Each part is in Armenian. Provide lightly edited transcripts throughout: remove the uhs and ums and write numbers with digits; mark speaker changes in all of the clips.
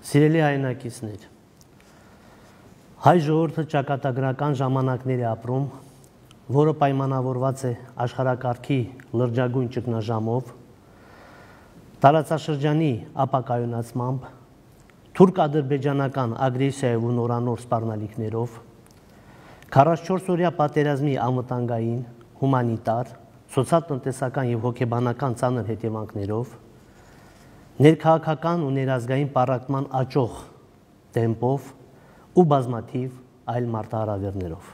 Speaker 1: Սիրելի հայրենակիցներ, հայ ժողովուրդը ճակատագրական ժամանակներ է ապրում, որը պայմանավորված է աշխարհակարգի լրջագույն ճգնաժամով, տարածաշրջանի ապակայունացմամբ, թուրք-ադրբեջանական ագրեսիայով ու նորանոր սպառնալիքներով, 44-օրյա պատերազմի անվտանգային, հումանիտար, սոցիալ-տնտեսական և հոգեբանական ծանր հետևանքներով, ներքաղաքական ու ներազգային պառակտման աճող տեմպով ու բազմաթիվ այլ մարտահրավերներով։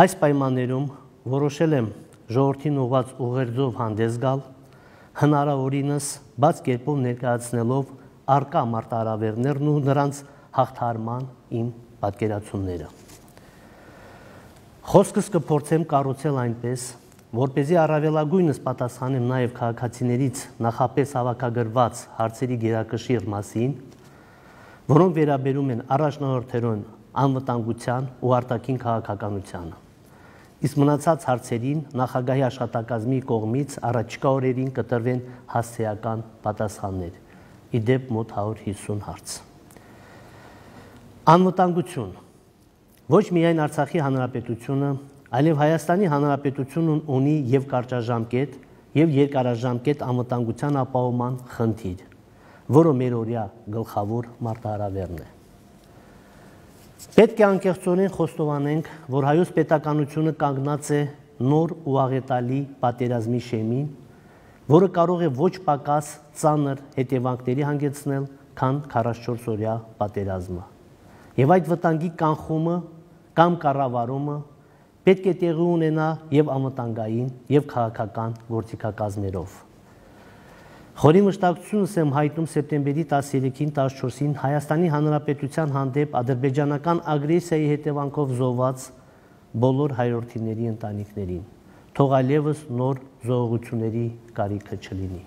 Speaker 1: Այս պայմաններում որոշել եմ ժողովրդին ուղղված ուղերձով հանդես գալ, հնարավորինս բաց կերպով ներկայացնելով առկա մարտահրավերներն ու նրանց հաղթահարման իմ պատկերացումները։ Խոսքս կփորձեմ կառուցել այնպես, որպեսզի առավելագույնս պատասխանեմ նաև քաղաքացիներից նախապես հավաքագրված հարցերի գերակշիռ մասին, որոնք վերաբերում են առաջնահերթորեն անվտանգության ու արտաքին քաղաքականությանը։ Իսկ մնացած հարցերին նախագահի աշխատակազմի կողմից առաջիկա օրերին կտրվեն հասցեական պատասխաններ, ի դեպ մոտ 150 հարց։ Անվտանգություն։ Ոչ միայն Արցախի հանրապետությունը, այլև Հայաստանի Հանրապետությունն ունի և կարճաժամկետ, և երկարաժամկետ անվտանգության ապահովման խնդիր, որը մերօրյա գլխավոր մարտահրավերն է։ Պետք է անկեղծորեն խոստովանենք, որ հայոց պետականությունը կանգնած է նոր ու աղետալի պատերազմի շեմին, որը կարող է ոչ պակաս ծանր հետևանքների հանգեցնել, քան 44-օրյա պատերազմը։ Եվ այդ վտանգի կանխումը կամ կառավարումը պետք է տեղի ունենա և անվտանգային, և քաղաքական գործիքակազմերով։ Խորի մշտակցությունս եմ հայտնում սեպտեմբերի 13-ին 14-ին Հայաստանի Հանրապետության հանդեպ ադրբեջանական ագրեսիայի հետևանքով զոհված բոլոր հայրորդիների ընտանիքներին, թող այլևս նոր զոհողությունների կարիքը չլինի։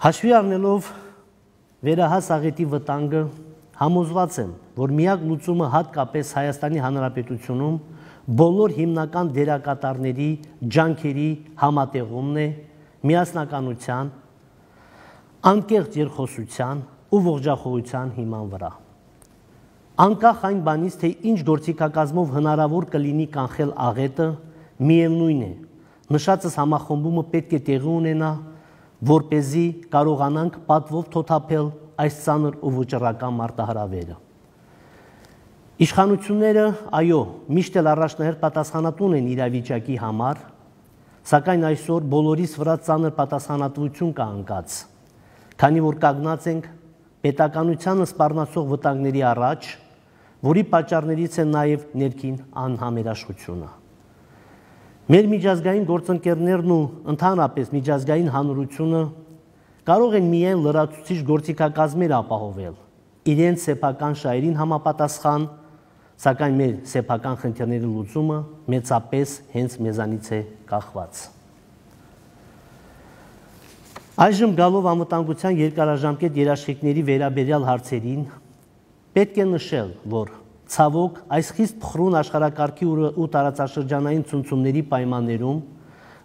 Speaker 1: Հաշվի առնելով վերահաս աղետի վտանգը, համոզված եմ, որ միակ լուծումը հատկապես Հայաստանի Հանրապետությունում բոլոր հիմնական դերակատարների ջանքերի համատեղումն է միասնականության, անկեղծ երկխոսության ու ողջախոհության հիման վրա։ Անկախ այն բանից, թե ինչ գործիքակազմով հնարավոր կլինի կանխել աղետը, միևնույն է, նշածս համախմբումը պետք է տեղի ունենա, որպեսզի կարողանանք պատվով թոթափել այս ծանր ու վճռական մարտահրավերը։ Իշխանությունները, այո, միշտ էլ առաջնահերթ պատասխանատուն են իրավիճակի համար, սակայն այսօր բոլորիս վրա ծանր պատասխանատվություն կա ընկած, քանի որ կանգնած ենք պետականությանը սպառնացող վտանգների առաջ, որի պատճառներից է նաև ներքին անհամերաշխությունը։ Մեր միջազգային գործընկերներն ու ընդհանրապես միջազգային հանրությունը կարող են միայն լրացուցիչ գործիքակազմեր ապահովել, իրենց սեփական շահերին համապատասխան, սակայն մեր սեփական խնդիրների լուծումը մեծապես հենց մեզանից է կախված։ Այժմ գալով անվտանգության երկարաժամկետ երաշխիքների վերաբերյալ հարցերին, պետք է նշել, որ ցավոք այս խիստ փխրուն աշխարհակարգի ու տարածաշրջանային ցնցումների պայմաններում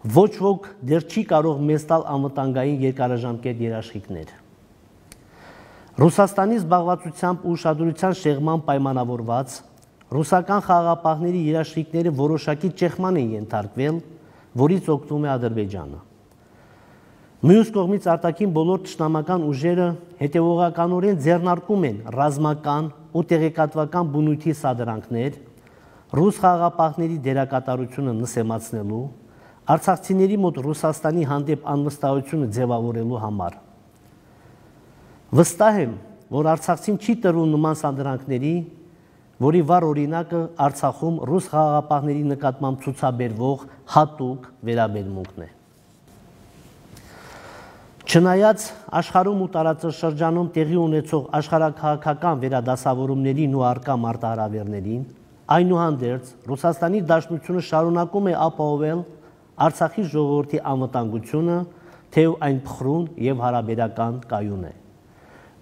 Speaker 1: ոչ ոք դեռ չի կարող մեզ տալ անվտանգային երկարաժամկետ երաշխիքներ։ Ռուսաստանի զբաղվածությամբ ու ուշադրության շեղման պայմանավորված ռուսական խաղաղապահների երաշխիքները որոշակի ճեղման են ենթարկվել, որից օգտվում է Ադրբեջանը։ Մյուս կողմից արտաքին բոլոր թշնամական ուժերը հետևողականորեն ձեռնարկում են ռազմական ու տեղեկատվական բնույթի սադրանքներ, ռուս խաղաղապահների դերակատարությունը նսեմացնելու, արցախցիների մոտ Ռուսաստանի հանդեպ անվստահությունը ձևավորելու համար։ Վստահ եմ, որ Արցախցին չի տրվում նման սադրանքների, որի վառ օրինակը Արցախում ռուս խաղաղապահների նկատմամբ ցուցաբերվող հատուկ վերաբերմունքն է։ Չնայած աշխարհում ու տարածաշրջանում տեղի ունեցող աշխարհաքաղաքական վերադասավորումներին ու առկա մարտահրավերներին, այնուհանդերձ Ռուսաստանի Դաշնությունը շարունակում է ապահովել Արցախի ժողովրդի անվտանգությունը, թեև այն փխրուն և հարաբերական կայուն է։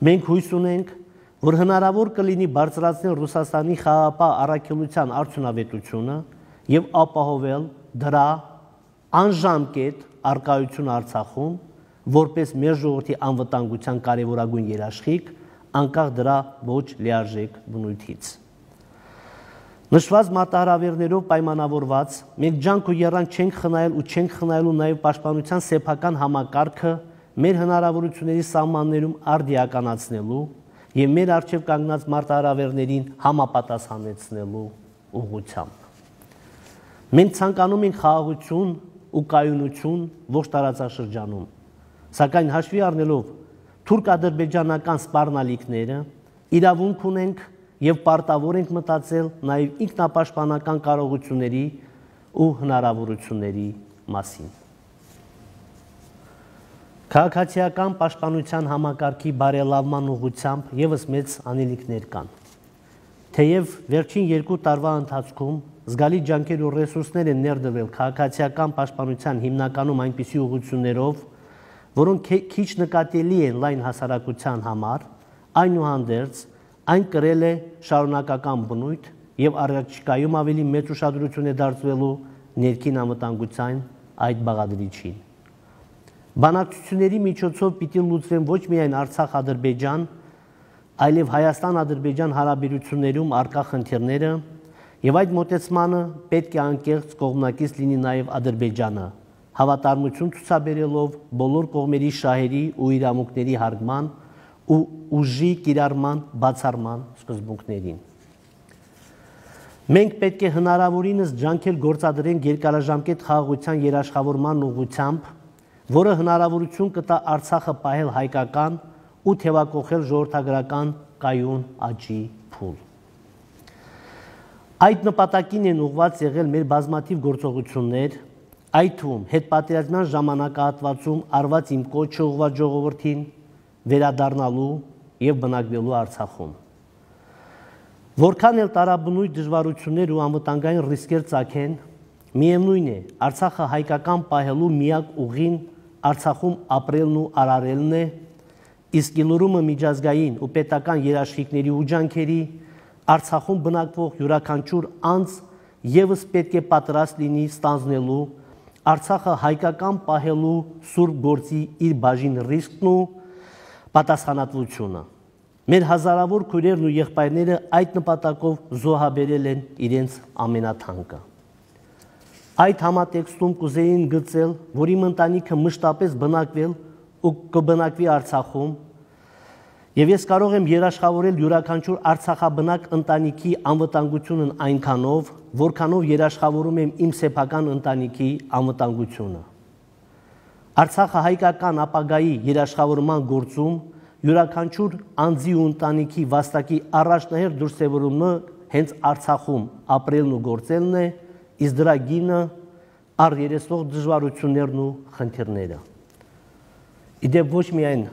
Speaker 1: Մենք հույս ունենք, որ հնարավոր կլինի բարձրացնել Ռուսաստանի խաղաղապահ առաքելության արդյունավետությունը և ապահովել դրա անժամկետ առկայությունը Արցախում, որպես մեր ժողովրդի անվտանգության կարևորագույն երաշխիք, անկախ դրա ոչ լիարժեք բնույթից։ Նշված մարտահրավերներով պայմանավորված մենք ջանք ու եռանք չենք խնայել ու չենք խնայելու նաև պաշտպանության սեփական համակարգը մեր հնարավորությունների սահմաններում արդիականացնելու եւ մեր առջև կանգնած մարտահրավերներին համապատասխանեցնելու ուղղությամբ։ Մենք ցանկանում ենք խաղաղություն ու կայունություն ողջ տարածաշրջանում, սակայն հաշվի առնելով թուրք-ադրբեջանական սպառնալիքները իրավունք ունենք եւ պարտավոր ենք մտածել նաեւ ինքնապաշտպանական կարողությունների ու հնարավորությունների մասին։ Քաղաքացիական պաշտպանության համակարգի բարելավման ուղղությամբ եւս մեծ անելիքներ կան։ Թեև վերջին 2 տարվա ընթացքում զգալի ջանքեր ու ռեսուրսներ են ներդրվել քաղաքացիական պաշտպանության հիմնականում այնպիսի ուղղություններով, որոնք քիչ նկատելի են լայն հասարակության համար, այնուհանդերձ այն կրել է շարունակական բնույթ եւ առաջիկայում ավելի մեծ ուշադրություն է դարձվելու ներքին անվտանգության այդ բաղադրիչին։ Բանակցությունների միջոցով պիտի լուծվեն ոչ միայն Արցախ-Ադրբեջան, այլև Հայաստան-Ադրբեջան հարաբերություններում առկա խնդիրները եւ այդ մոտեցմանը պետք է անկեղծ կողմնակից լինի նաեւ Ադրբեջանը, հավատարմություն ցուցաբերելով բոլոր կողմերի շահերի ու իրավունքների հարգման ու ուժի կիրառման բացառման սկզբունքներին։ Մենք պետք է հնարավորինս ջանքեր գործադրենք երկարաժամկետ խաղաղության երաշխավորման ուղղությամբ, որը հնարավորություն կտա Արցախը պահել հայկական ու թևակողել ժողովրդագրական կայուն աճի փուլ։ Այդ նպատակին են ուղղված եղել մեր բազմաթիվ գործողություններ, այդ թվում հետպատերազմյան ժամանակահատվածում արված իմ կոչը ուղղված ժողովրդին վերադառնալու եւ բնակվելու Արցախում։ Որքան էլ տարաբնույթ դժվարություններ ու անվտանգային ռիսկեր ծագեն, միևնույն է, Արցախը հայկական պահելու միակ ուղին Արցախում ապրելն ու արարելն է, իսկ իլուրումը միջազգային ու պետական երաշխիքների ու ջանքերի Արցախում բնակվող յուրաքանչյուր անձ եւս պետք է պատրաստ լինի ստանձնելու Արցախը հայկական պահելու սուրբ գործի իր բաժին ռիսկն ու պատասխանատվությունը։ Մեր հազարավոր քույրերն ու եղբայրները այդ նպատակով զոհաբերել են իրենց ամենաթանկը։ Այդ համատեքստում կուզեին գծել, որ իմ ընտանիքը մշտապես բնակվել ու կբնակվի Արցախում, եւ ես կարող եմ երաշխավորել յուրաքանչյուր արցախաբնակ ընտանիքի անվտանգությունն այնքանով, որքանով երաշխավորում եմ իմ սեփական ընտանիքի անվտանգությունը։ Արցախը հայկական ապագայի երաշխավորման գործում յուրաքանչյուր անձի ու ընտանիքի վաստակի առաջնահերթ դրսևորումը հենց Արցախում ապրելն ու գործելն է, իսկ դրա գինը առերեսվող դժվարություններն ու խնդիրները։ Իդեպ ոչ միայն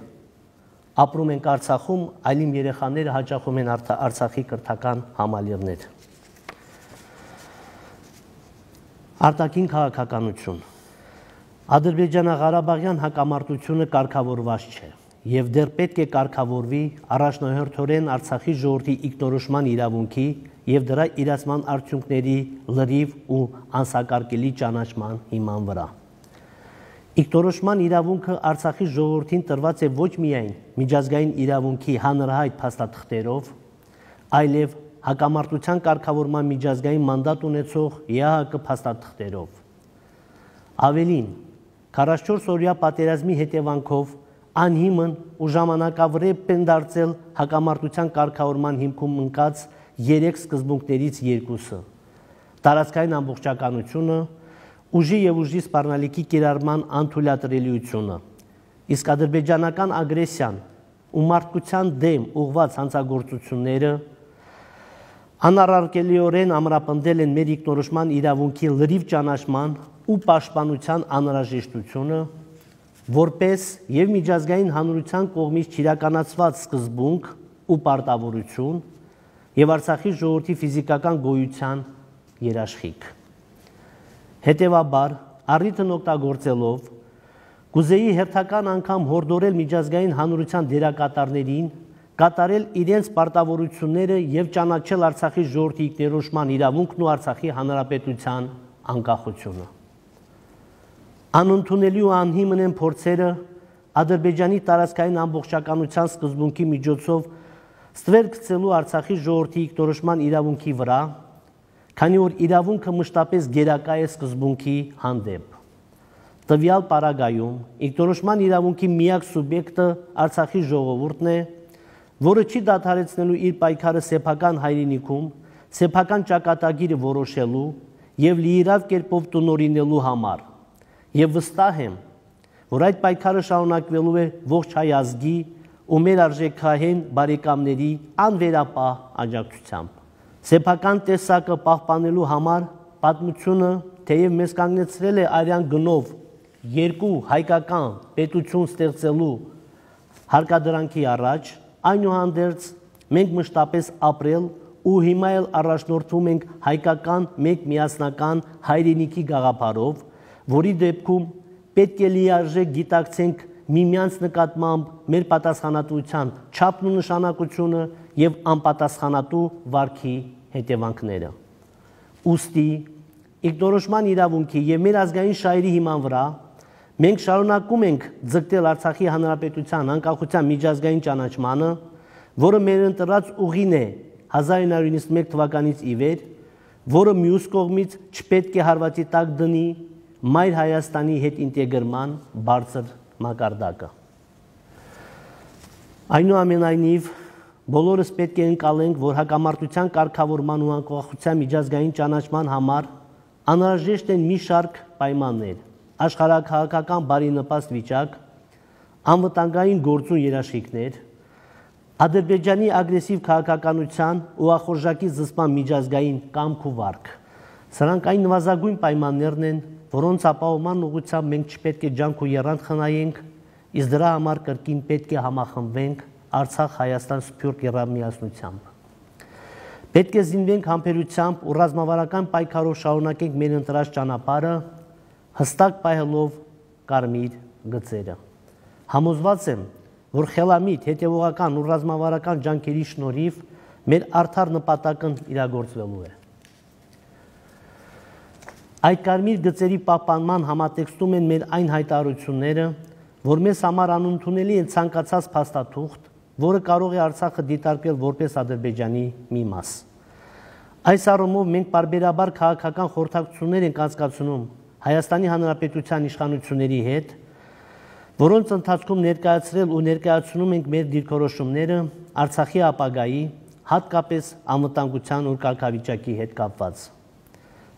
Speaker 1: ապրում ենք Արցախում, այլ իմ երեխաները հաճախում են Արցախի կրթական համալիրներ։ Արտաքին քաղաքականություն։ Ադրբեջանա-Ղարաբաղյան հակամարտությունը կարգավորված չէ եւ դեռ պետք է կարգավորվի առաջնահերթորեն Արցախի ժողովրդի ինքնորոշման իրավունքի եւ դրա իրացման արդյունքների լրիվ ու անսակարկելի ճանաչման հիման վրա։ Ինքնորոշման իրավունքը Արցախի ժողովրդին տրված է ոչ միայն միջազգային իրավունքի հանրահայտ փաստաթղթերով, այլև հակամարտության կարգավորման միջազգային մանդատ ունեցող ԵԱՀԿ փաստաթղթերով։ Ավելին, 44-օրյա պատերազմի հետևանքով անհիմն ու ժամանակավրեպ են դարձել հակամարտության կարգավորման հիմքում ընկած 3 սկզբունքներից 2-ը՝ տարածքային ամբողջականությունը, ուժի եւ ուժի սպառնալիքի կիրառման անթույլատրելիությունը, իսկ ադրբեջանական ագրեսիան ու մարդկության դեմ ուղղված հանցագործությունները անառարկելիորեն ամրապնդել են մեր ինքնորոշման իրավունքի լրիվ ճանաչման ու պաշտպանության անհրաժեշտությունը, որպես եւ միջազգային հանրության կողմից չիրականացված սկզբունք ու պարտավորություն եւ Արցախի ժողովրդի ֆիզիկական գոյության երաշխիք։ Հետևաբար, առիթն օգտագործելով, կուզեի հերթական անգամ հորդորել միջազգային հանրության դերակատարներին կատարել իրենց պարտավորությունները եւ ճանաչել Արցախի ժողովրդի ինքնորոշման իրավունքն ու Արցախի հանրապետության անկախությունը։ Անընդունելի ու անհիմն են փորձերը Ադրբեջանի տարածքային ամբողջականության սկզբունքի միջոցով ստվեր գցելու Արցախի ժողովրդի ինքնորոշման իրավունքի վրա, քանի որ իրավունքը մշտապես գերակա է սկզբունքի հանդեպ։ Տվյալ պարագայում ինքնորոշման իրավունքի միակ սուբյեկտը Արցախի ժողովուրդն է, որը չի դադարեցնելու իր պայքարը սեփական հայրենիքում, սեփական ճակատագիրը որոշելու եւ լիիրավ կերպով տնօրինելու համար։ Եվ վստահ եմ, որ այդ պայքարը շարունակվելու է ողջ հայ ազգի ու մեր արժեքահեն բարեկամների անվերապահ աջակցությամբ։ Սեփական տեսակը պահպանելու համար պատմությունը թեև մեզ կանգնեցրել է արյան գնով երկու հայկական պետություն ստեղծելու հարկադրանքի առաջ, այնուհանդերձ մենք մշտապես ապրել ու հիմա էլ առաջնորդվում ենք հայկական մեկ միասնական հայրենիքի գաղափարով, որի դեպքում պետք է լիարժեք գիտակցենք միմյանց նկատմամբ մեր պատասխանատվության չափն ու նշանակությունը եւ անպատասխանատու վարքի հետևանքները։ Ուստի ինքնորոշման իրավունքի եւ մեր ազգային շահերի հիման վրա մենք շարունակում ենք ձգտել Արցախի հանրապետության անկախության միջազգային ճանաչմանը, որը մեր ընտրած ուղին է 1991 թվականից ի վեր, որը մյուս կողմից չպետք է հարվածի տակ դնի Մայր Հայաստանի հետ ինտեգրման բարձր մակարդակը։ Այնուամենայնիվ, բոլորս պետք է ընկալենք, որ հակամարտության կարգավորման ու անկախության միջազգային ճանաչման համար անհրաժեշտ են մի շարք պայմաններ՝ աշխարհաքաղաքական բարենպաստ վիճակ, անվտանգային գործուն երաշխիքներ, Ադրբեջանի ագրեսիվ քաղաքականության ու ախորժակի զսպման միջազգային կամք ու վարք։ Սրանք այն նվազագույն պայմաններն են, որոնց ապահովման ուղղությամբ մենք չպետք է ջանք ու եռանդ խնայենք, իսկ դրա համար կրկին պետք է համախմբվենք Արցախ-Հայաստան սփյուռք միասնությամբ։ Պետք է զինվենք համբերությամբ ու ռազմավարական պայքարով շարունակենք մեր ընտրած ճանապարհը, հստակ պահելով կարմիր գծերը։ Համոզված եմ, որ խելամիտ, հետևողական ու ռազմավարական ջանքերի շնորհիվ մեր արդար նպատակն իրագործվելու է։ Այդ կարմիր գծերի պահպանման համատեքստում են մեր այն հայտարարությունները, որ մեզ համար անընդունելի են ցանկացած փաստաթուղթ, որը կարող է Արցախը դիտարկել որպես Ադրբեջանի մի մաս։ Այս առումով մենք պարբերաբար քաղաքական խորհրդակցություններ ենք անցկացնում Հայաստանի Հանրապետության իշխանությունների հետ, որոնց ընթացքում ներկայացրել ու ներկայացնում ենք մեր դիրքորոշումները Արցախի ապագայի, հատկապես անվտանգության ու կարգավիճակի հետ կապված։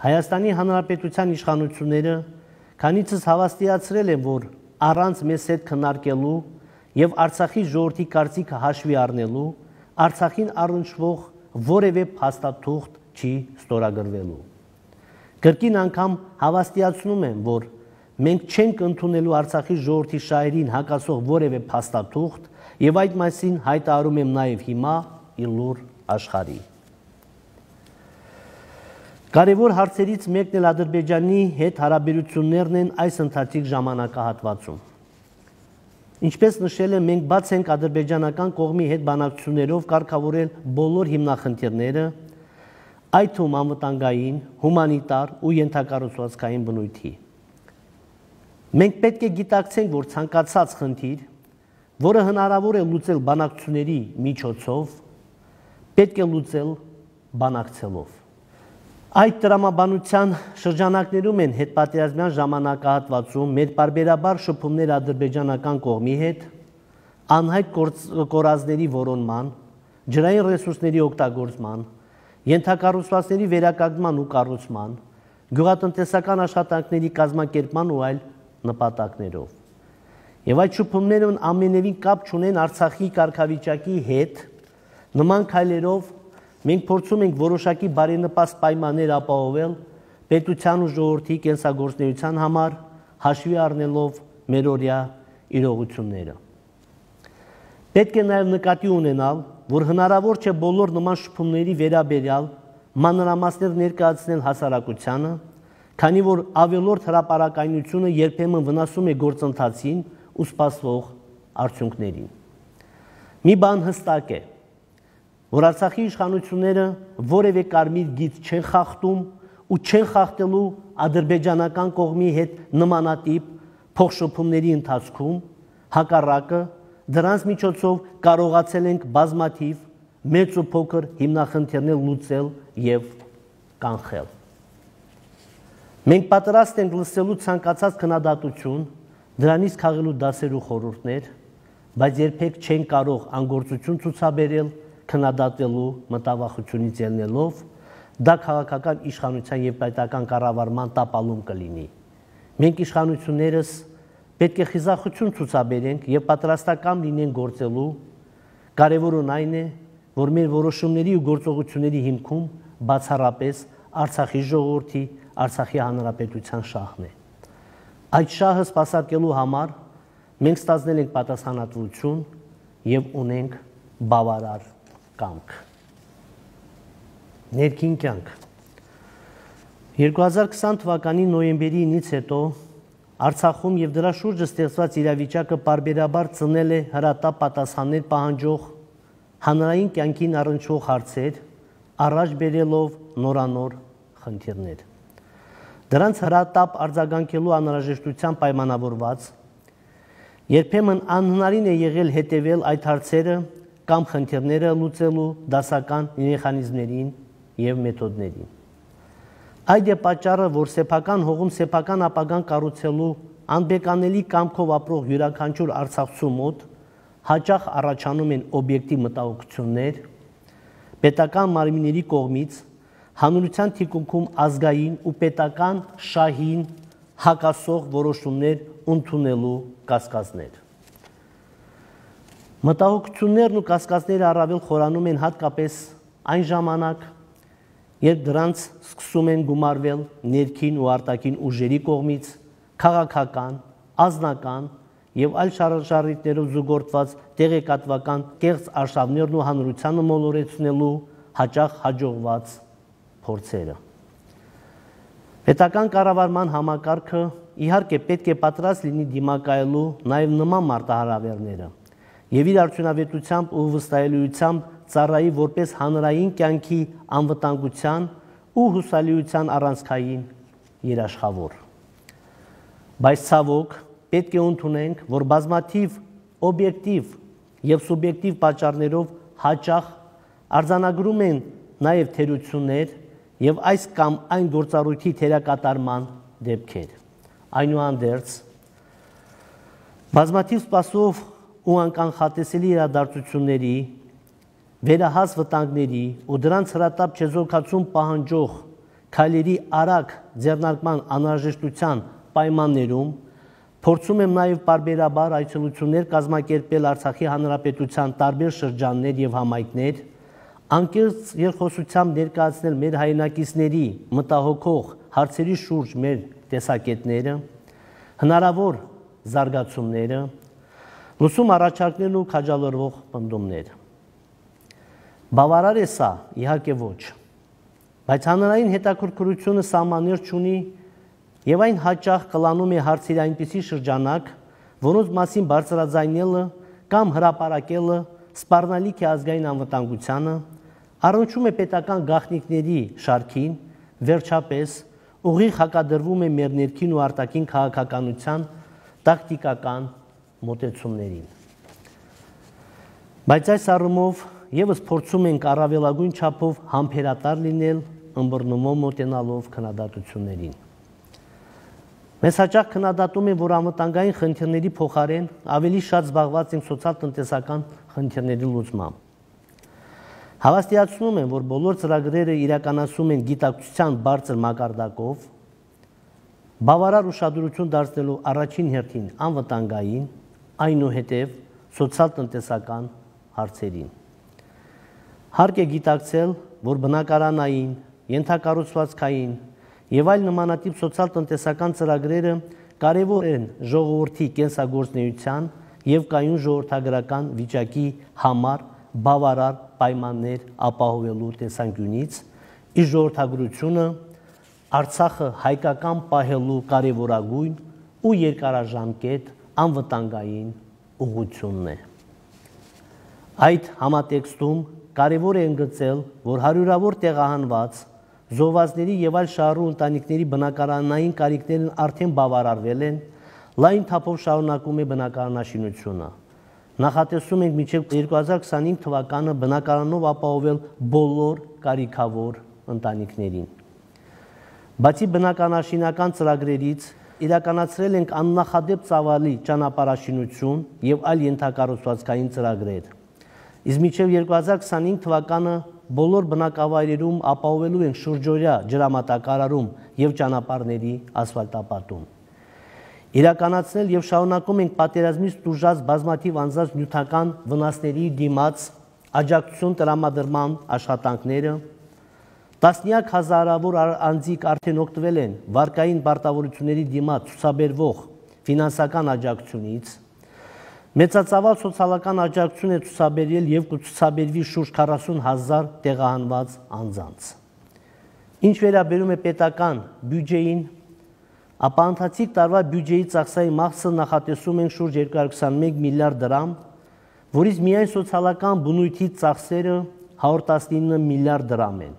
Speaker 1: Հայաստանի Հանրապետության իշխանությունները քանիցս հավաստիացրել են, որ առանց մեզ հետ քննարկելու եւ Արցախի ժողովրդի կարծիքը հաշվի առնելու Արցախին առնչվող որևէ փաստաթուղթ չի ստորագրվելու։ Կրկին անգամ հավաստիացնում եմ, որ մենք չենք ընդունելու Արցախի ժողովրդի շահերին հակասող որևէ փաստաթուղթ եւ այդ մասին հայտարարում եմ նաեւ հիմա իլուր աշխարհի։ Կարևոր հարցերից մեկն էլ Ադրբեջանի հետ հարաբերություններն են այս ընթացիկ ժամանակահատվածում։ Ինչպես նշել եմ, մենք բաց ենք ադրբեջանական կողմի հետ բանակցություններով կարգավորել բոլոր հիմնախնդիրները, այդ թվում անվտանգային, հումանիտար ու ենթակառուցվածքային բնույթի։ Մենք պետք է գիտակցենք, որ ցանկացած խնդիր, որը հնարավոր է լուծել բանակցությունների միջոցով, պետք է լուծել բանակցելով։ Այդ տրամաբանության շրջանակներում են հետպատերազմյան ժամանակահատվածում մեր պարբերաբար շփումներ ադրբեջանական կողմի հետ, անհայտ կորածների որոնման, ջրային ռեսուրսների օգտագործման, ենթակառուցվածքների վերականգնման ու կառուցման, գյուղատնտեսական աշխատանքների կազմակերպման ու այլ նպատակներով։ Եվ այդ շփումներն ամենևին կապ չունեն Արցախի կարգավիճակի հետ, նման քայլերով մենք փորձում ենք որոշակի բարենպաստ պայմաններ ապահովել պետության ու ժողովրդի կենսագործունեության համար, հաշվի առնելով մերօրյա իրողությունները։ Պետք է նաև նկատի ունենալ, որ հնարավոր չէ բոլոր նման շփումների վերաբերյալ մանրամասներ ներկայացնել հասարակությանը, քանի որ ավելորդ հրապարակայնությունը երբեմն վնասում է գործընթացին ու սպասվող արդյունքներին։ Մի բան հստակ է, որ Արցախի իշխանությունները որևէ կարմիր գիծ չեն խախտում ու չեն խախտելու ադրբեջանական կողմի հետ նմանատիպ փոխշփումների ընթացքում, Հակառակը դրանց միջոցով կարողացել ենք բազմաթիվ մեծ ու փոքր հիմնախնդիրներ լուծել եւ կանխել։ Մենք պատրաստ ենք լսելու ցանկացած քննադատություն, դրանից քաղելու դասեր ու խորհուրդներ, բայց երբեք չեն կարող անգործություն ցուցաբերել քննադատվելու մտավախությունից ելնելով, դա քաղաքական իշխանության եւ պետական կառավարման տապալում կլինի։ Մենք իշխանություններս պետք է խիզախություն ցուցաբերենք եւ պատրաստական լինենք գործելու, կարեւորն այն է, որ մեր որոշումների ու գործողությունների հիմքում բացառապես Արցախի ժողովրդի, Արցախի հանրապետության շահն է։ Այդ շահը սպասարկելու համար մենք ստացնել ենք պատասխանատվություն եւ ունենք բավարար կամք։ Ներքին կյանք 2020 թվականի նոյեմբերի 9-ից հետո Արցախում եւ դրա շուրջը ստեղծված իրավիճակը պարբերաբար ծնել է հրատապ պատասխաններ պահանջող հանրային կյանքին առնչվող հարցեր, առաջ բերելով նորանոր խնդիրներ։ Դրանց հրատապ արձագանքելու անհրաժեշտության պայմանավորված երբեմն անհնարին է եղել հետևել այդ հարցերը կամ խնդիրները լուծելու դասական մեխանիզմներին եւ մեթոդներին։ Այդ է պատճառը, որ սեփական հողում սեփական ապագան կառուցելու անբեկանելի կամքով ապրող յուրաքանչյուր արցախցու մոտ հաճախ առաջանում են օբյեկտիվ մտահոգություններ, պետական մարմինների կողմից հանրության թիկունքում ազգային ու պետական շահին հակասող որոշումներ ընդունելու կասկածներ։ Մտահոգություններն ու կասկածները առավել խորանում են հատկապես այն ժամանակ, երբ դրանց սկսում են գումարվել ներքին ու արտաքին ուժերի կողմից քաղաքական, ազնական եւ այլ շարժառիթներով զուգորդված տեղեկատվական կեղծ արշավներն ու հանրությանը մոլորեցնելու հաճախ հաջողված փորձերը։ Պետական կառավարման համակարգը իհարկե պետք է պատրաստ լինի դիմակայելու նաեւ նման մարտահրավերները եւ իր արդյունավետությամբ ու վստահելիությամբ ծառայի որպես հանրային կյանքի անվտանգության ու հուսալիության առանցքային երաշխավոր։ Բայց ցավոք պետք է ընդունենք, որ բազմաթիվ օբյեկտիվ եւ սուբյեկտիվ պատճառներով հաճախ արձանագրում են նաեւ թերություններ եւ այս կամ այն գործառույթի թերակատարման դեպքեր։ Այնուհանդերձ բազմաթիվ սպասով ու անկանխատեսելի իրադարձությունների, վերահաս վտանգների ու դրանց հրատապ չեզոքացում պահանջող քայլերի արագ ձեռնարկման անհրաժեշտության պայմաններում փորձում եմ նաև պարբերաբար այցելություններ կազմակերպել Արցախի հանրապետության տարբեր շրջաններ եւ համայնքներ, անկեղծ երկխոսությամբ ներկայացնել մեր հայրենակիցների մտահոգող հարցերի շուրջ մեր տեսակետները, հնարավոր զարգացումները, լուսում առաջարկներն ու քաջալերվող պնդումներ։ Բավարար է սա, իհարկե ոչ, բայց հանրային հետաքրքրությունը սահմաններ չունի եւ այն հաճախ կլանում է հարցերի այնպիսի շրջանակ, որոնց մասին բարձրաձայնելը կամ հրապարակելը սպառնալիք է ազգային անվտանգությանը, առնչում է պետական գաղտնիքների շարքին, վերջապես ուղիղ հակադրվում է մեր ներքին ու արտաքին քաղաքականության տակտիկական մոտեցումներին։ Բայց այս առումով եւս փորձում ենք առավելագույն չափով համբերատար լինել, ըմբռնումով մոտենալով քննադատություններին։ Մեզ հաճախ քննադատում են, որ անվտանգային խնդիրների փոխարեն ավելի շատ զբաղված ենք սոցիալ-տնտեսական խնդիրների լուծմամբ։ Հավաստիացնում եմ, որ բոլոր ծրագրերը իրականացում են գիտակցության բարձր մակարդակով, բավարար ուշադրություն դարձնելու առաջին հերթին անվտանգային, այնուհետև սոցիալ-տնտեսական հարցերին։ Հարկ է գիտակցել, որ բնակարանային, ենթակառուցվածքային եւ այլ նմանատիպ սոցիալ-տնտեսական ծրագրերը կարևոր են ժողովրդի կենսագործունեության եւ կայուն ժողովրդագրական վիճակի համար բավարար պայմաններ ապահովելու տեսանկյունից, իր ժողովրդագրությունը Արցախը հայկական պահելու կարևորագույն ու երկարաժամկետ անվտանգային ուղղությունն է։ Այդ համատեքստում կարևոր է ընդգծել, որ հարյուրավոր տեղահանված, զոհվածների եւ այլ շահառու ընտանիքների բնակարանային կարիքներն արդեն բավարարվել են, լայն թափով շարունակում է բնակարանաշինությունը։ Նախատեսում ենք մինչև 2025 թվականը բնակարանով ապահովել բոլոր կարիքավոր ընտանիքներին։ Բացի բնակարանաշինական ծրագրերից իրականացրել ենք աննախադեպ ծավալի ճանապարհաշինություն եւ այլ ենթակառուցվածքային ծրագրեր։ Իսկ մինչև 2025 թվականը բոլոր բնակավայրերում ապահովելու ենք շուրջօրյա ջրամատակարարում եւ ճանապարհների ասֆալտապատում։ Իրականացնել եւ շարունակում ենք պատերազմից տուժած բազմաթիվ անձանց նյութական վնասների դիմաց աջակցություն տրամադրման աշխատանքները։ Տասնյակ հազարավոր անձիկ արդեն օգտվել են վարկային պարտավորությունների դիմաց ցուցաբերվող ֆինանսական աջակցությունից։ Մեծածավալ սոցիալական աջակցություն է ցուցաբերել եւ կցուցաբերվի շուրջ 40,000 տեղահանված անձանց։ Ինչ վերաբերում է պետական բյուջեին, ապա ընթացիկ տարվա բյուջեի ծախսային մասը նախատեսում ենք շուրջ 221 միլիարդ դրամ, որից միայն սոցիալական բնույթի ծախսերը 119 միլիարդ դրամ են,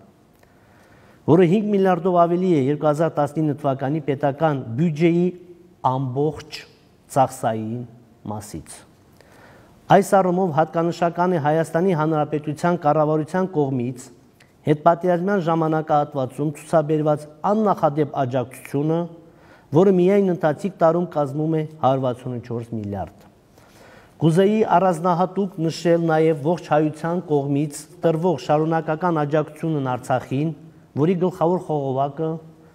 Speaker 1: որը 5 միլիարդով ավելի է 2019 թվականի պետական բյուջեի ամբողջ ծախսային մասից։ Այս առումով հատկանշական է Հայաստանի Հանրապետության կառավարության կողմից հետպատերազմյան ժամանակահատվածում ցուցաբերված աննախադեպ աջակցությունը, որը միայն ընթացիկ տարում կազմում է 164 միլիարդ։ Կուզեի առանձնահատուկ նշել նաև ողջ հայության կողմից տրվող շարունակական աջակցությունն Արցախին, որի գլխավոր խողովակը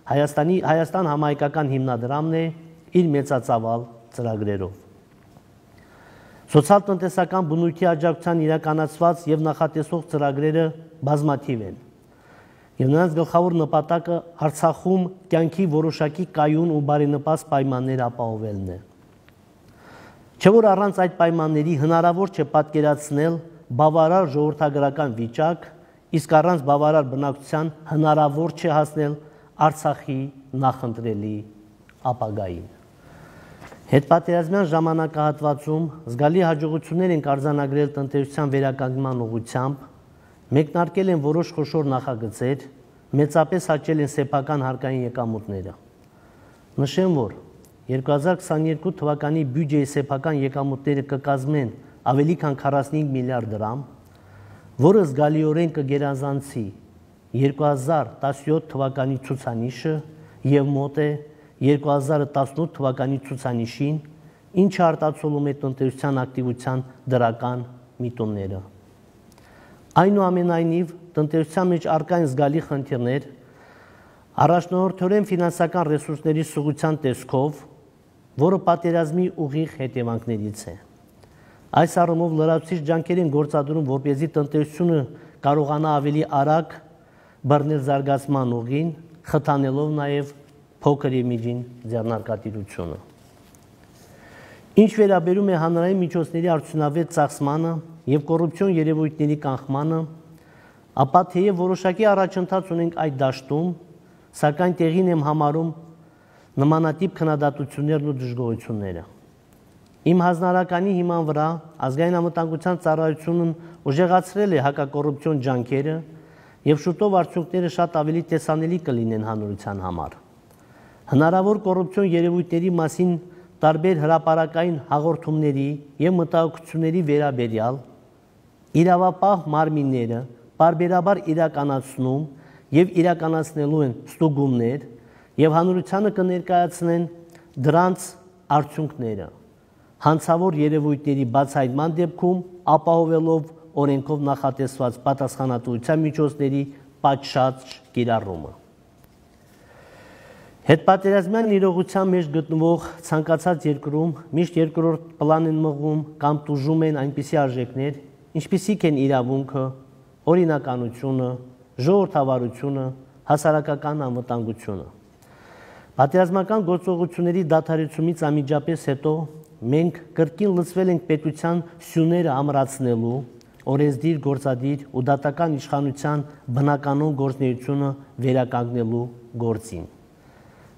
Speaker 1: Հայաստան համահայկական հիմնադրամն է իր մեծածավալ ծրագրերով։ Սոցիալ-տնտեսական բնույթի աջակցության իրականացված եւ նախատեսող ծրագրերը բազմաթիվ են, եւ նրանց գլխավոր նպատակը Արցախում կյանքի որոշակի կայուն ու բարենպաստ պայմաններ ապահովելն է։ Չէ որ առանց այդ պայմանների հնարավոր չէ պատկերացնել բավարար ժողովրդագրական վիճակ, իսկ առանց բավարար բնակչության հնարավոր չէ հասնել Արցախի նախընտրելի ապագային։ Հետպատերազմյան ժամանակահատվածում զգալի հաջողություններ են արձանագրել տնտեսության վերականգնման ուղղությամբ, մեկնարկել են որոշ խոշոր նախագծեր, մեծապես աճել են սեփական հարկային եկամուտները։ Նշեմ, որ 2022 թվականի բյուջեի սեփական եկամուտները կկազմեն ավելի քան 45 միլիարդ դրամ, որը զգալիորեն կգերազանցի 2017 թվականի ցուցանիշը եւ մոտ է 2018 թվականի ցուցանիշին, ինչը արտացոլում է տնտեսության ակտիվության դրական միտումները։ Այնուամենայնիվ, տնտեսության մեջ առկա են զգալի խնդիրներ, առաջնորդորեն ֆինանսական ռեսուրսների սուղության տեսքով, որը պատերազմի ուղիղ հետևանքներից է։ Այս առումով լրացուցիչ ջանքեր են գործադրում, որպեսզի տնտեսությունը կարողանա ավելի արագ բռնել զարգացման ուղին, խթանելով նաև փոքր եւ միջին ձեռնարկատիրությունը։ Ինչ վերաբերում է հանրային միջոցների արդյունավետ ծախսմանը եւ կոռուպցիոն երևույթների կանխմանը, ապա թեև որոշակի առաջընթաց ունենք այդ դաշտում, սակայն տեղին եմ համարում նմանատիպ քննադատություններն ու դժգոհությունները։ Իմ հանրականի հիման վրա ազգային անվտանգության ծառայությունն ուժեղացրել է հակակոռուպցիոն ջանքերը եւ շուտով արդյունքները շատ ավելի տեսանելի կլինեն հանրության համար։ Հնարավոր կոռուպցիոն երևույթների մասին տարբեր հրապարակային հաղորդումների եւ մտահոգությունների վերաբերյալ իրավապահ մարմինները բարբերաբար իրականացնում եւ իրականացնելու են ստուգումներ եւ հանրությանը կներկայացնեն դրանց արդյունքները հանցավոր երևույթների բացահայտման դեպքում ապահովելով օրենքով նախատեսված պատասխանատվության միջոցների պատշաճ կիրառումը։ Հետպատերազմյան իրողության մեջ գտնվող ցանկացած երկրում միշտ երկրորդ պլան են մղում կամ տուժում են այնպիսի արժեքներ, ինչպիսիք են իրավունքը, օրինականությունը, ժողովրդավարությունը, հասարակական անվտանգությունը։ Պատերազմական գործողությունների դադարեցումից անմիջապես հետո մենք կրկին լծվել ենք պետության սյուները ամրացնելու, օրենսդիր, գործադիր ու դատական իշխանության բնականոն գործունեությունը վերականգնելու գործին։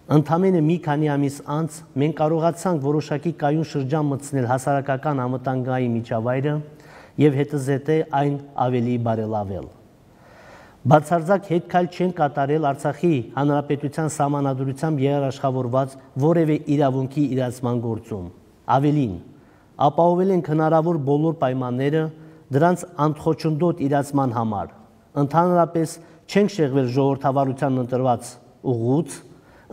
Speaker 1: Ընդամենը մի քանի ամիս անց մենք կարողացանք որոշակի կայուն շրջան մտցնել հասարակական անվտանգային միջավայրը եւ հետզհետե այն ավելի բարելավել։ Բացարձակ հետքայլ չեն կատարել Արցախի հանրապետության սահմանադրությամբ երաշխավորված որևէ իրավունքի իրացման գործում։ Ավելին, ապահովել են հնարավոր բոլոր պայմանները դրանց անխոչնդոտ իրացման համար։ Ընդհանրապես չենք շեղվել ժողովրդավարության ընտրված ուղուց,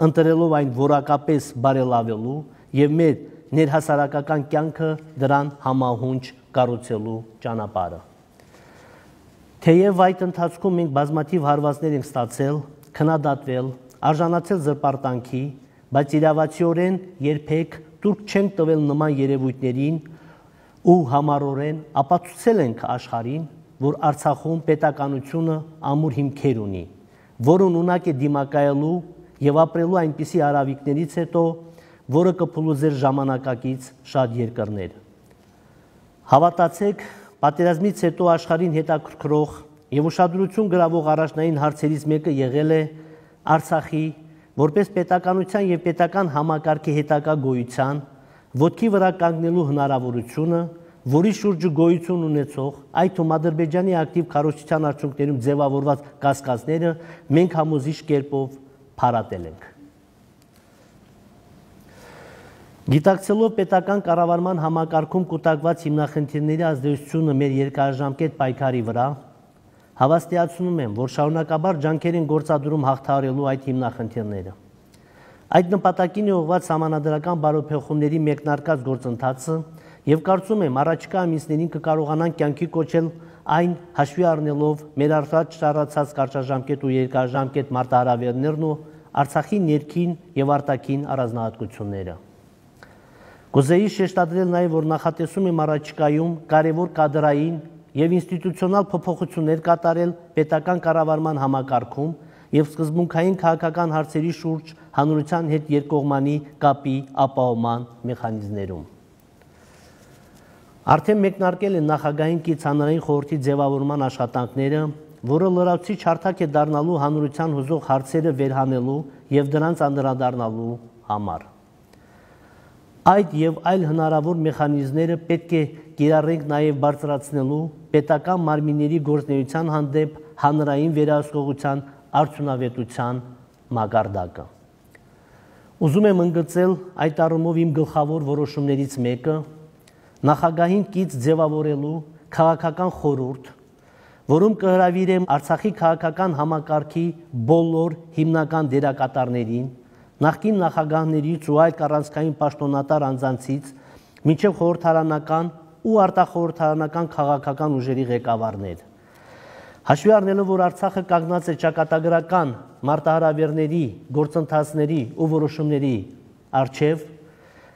Speaker 1: ընտրելով այն որակապես բարելավելու եւ մեր ներհասարակական կյանքը դրան համահունչ կառուցելու ճանապարհը։ Թեև այդ ընթացքում մենք բազմաթիվ հարվածներ ենք ստացել, քննադատվել, արժանացել զրպարտանքի, բայց իրավացիորեն երբեք տուրք չենք տվել նման երևույթներին ու համառորեն ապացուցել ենք աշխարհին, որ Արցախում պետականությունը ամուր հիմքեր ունի, որն ունակ է դիմակայելու եւ ապրելու այնպիսի արավիկներից հետո, որը կփլուզեր ժամանակակից շատ երկրներ։ Հավատացեք, պատերազմից հետո աշխարհին հետաքրքրող եւ ուշադրություն գրավող առաջնային հարցերից մեկը եղել է Արցախի որպես պետականության եւ պետական համակարգի հետագա գոյության ոտքի վրա կանգնելու հնարավորությունը, որի շուրջը գոյություն ունեցող այդ թվում Ադրբեջանի ակտիվ քարոզչության արդյունքներում ձևավորված կասկածները մենք համոզիչ կերպով փարատել ենք։ Գիտակցելով պետական կառավարման համակարգում կուտակված հիմնախնդիրների ազդեցությունը մեր երկարաժամկետ պայքարի վրա, հավաստիացնում եմ, որ շարունակաբար ջանքեր են գործադրում հաղթահարելու այդ հիմնախնդիրները։ Այդ նպատակին է ուղղված սահմանադրական բարեփոխումների մեկնարկած գործընթացը եւ կարծում եմ առաջիկա ամիսներին կկարողանան կյանքի կոչել այն հաշվի առնելով մեր առաջ շարացած կարճաժամկետ ու երկարաժամկետ մարտահրավերներն ու Արցախի ներքին եւ արտաքին առանձնահատկությունները։ Կուզեի շեշտադրել նաեւ, որ նախատեսում եմ առաջիկայում կարևոր կադրային եւ ինստիտուցիոնալ փոփոխություններ կատարել պետական կառավարման համակարգում եւ սկզբունքային քաղաքական հարցերի շուրջ հանրության հետ երկկողմանի կապի ապահովման մեխանիզմներում։ Արդեն մեկնարկել են նախագահային կից հանրային խորհրդի ձևավորման աշխատանքները, որը լրացուցիչ հարթակ է դառնալու հանրության հուզող հարցերը վերհանելու եւ դրանց անդրադառնալու համար։ Այդ եւ այլ հնարավոր մեխանիզմները պետք է կիրառենք նաեւ բարձրացնելու պետական մարմինների գործունեության հանդեպ հանրային վերահսկողության արդյունավետության մակարդակը։ Ուզում եմ ընդգծել այդ առումով իմ գլխավոր որոշումներից մեկը նախագահին կից ձևավորելու քաղաքական խորհուրդ, որում կհրավիրեմ Արցախի քաղաքական համակարգի բոլոր հիմնական դերակատարներին, նախկին նախագահներից ու այլ առանցքային պաշտոնատար անձանցից մինչև խորհրդարանական ու արտախորհրդարանական քաղաքական ուժերի ղեկավարներ։ Հաշվի առնելով, որ Արցախը կանգնած է ճակատագրական մարտահրավերների, գործընթացների ու որոշումների առջև,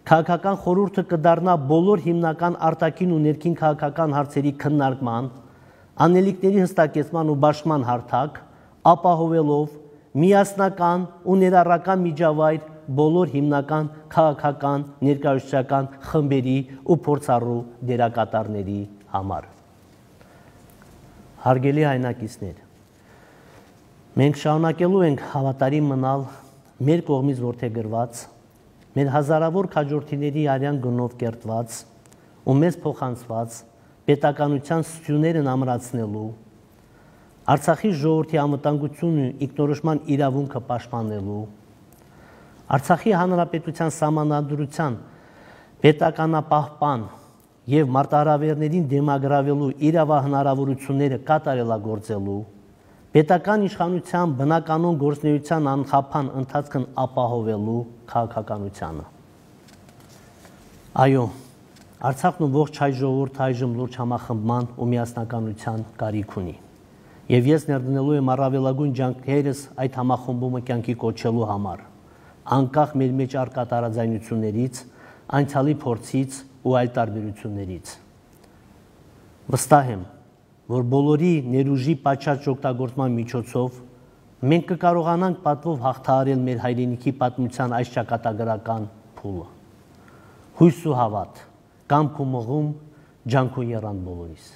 Speaker 1: քաղաքական խորհուրդը կդառնա բոլոր հիմնական արտաքին ու ներքին քաղաքական հարցերի քննարկման, անելիքների հստակեցման ու բաշխման հարթակ, ապահովելով միասնական ու ներառական միջավայր բոլոր հիմնական քաղաքական ներկայացուցչական խմբերի ու փորձառու դերակատարների համար։ Հարգելի հայրենակիցներ, մենք շարունակելու ենք հավատարիմ մնալ մեր կողմից որդեգրված, մեր հազարավոր քաջորդիների արյան գնով կերտված ու մեզ փոխանցված պետականության սթյուներն ամրացնելու, Արցախի ժողովրդի անվտանգությունն ու ինքնորոշման իրավունքը պաշտպանելու, Արցախի հանրապետության սահմանադրության պետականապահպան եւ մարտահրավերներին դիմագրավելու իրավահնարավորությունները կատարելագործելու, պետական իշխանության բնականոն գործունեության անխափան ընթացքն ապահովելու քաղաքականությանը։ Այո, Արցախն ու ողջ հայ ժողովուրդը այժմ լուրջ համախմբման ու միասնականության կարիք ունի։ Եվ ես ներդնելու եմ առավելագույն ջանքերս այդ համախմբումը կյանքի կոչելու համար, անկախ մեր մեջ առկա տարաձայնություններից, անցյալի փորձից ու այլ տարբերություններից։ Վստահ եմ, որ բոլորի ներուժի պատշաճ օգտագործման միջոցով մենք կկարողանանք պատվով հաղթահարել մեր հայրենիքի պատմության այս ճակատագրական փուլը։ Հույս ու հավատ, կամք ու մղում, ջանք ու եռանդ բոլորիս։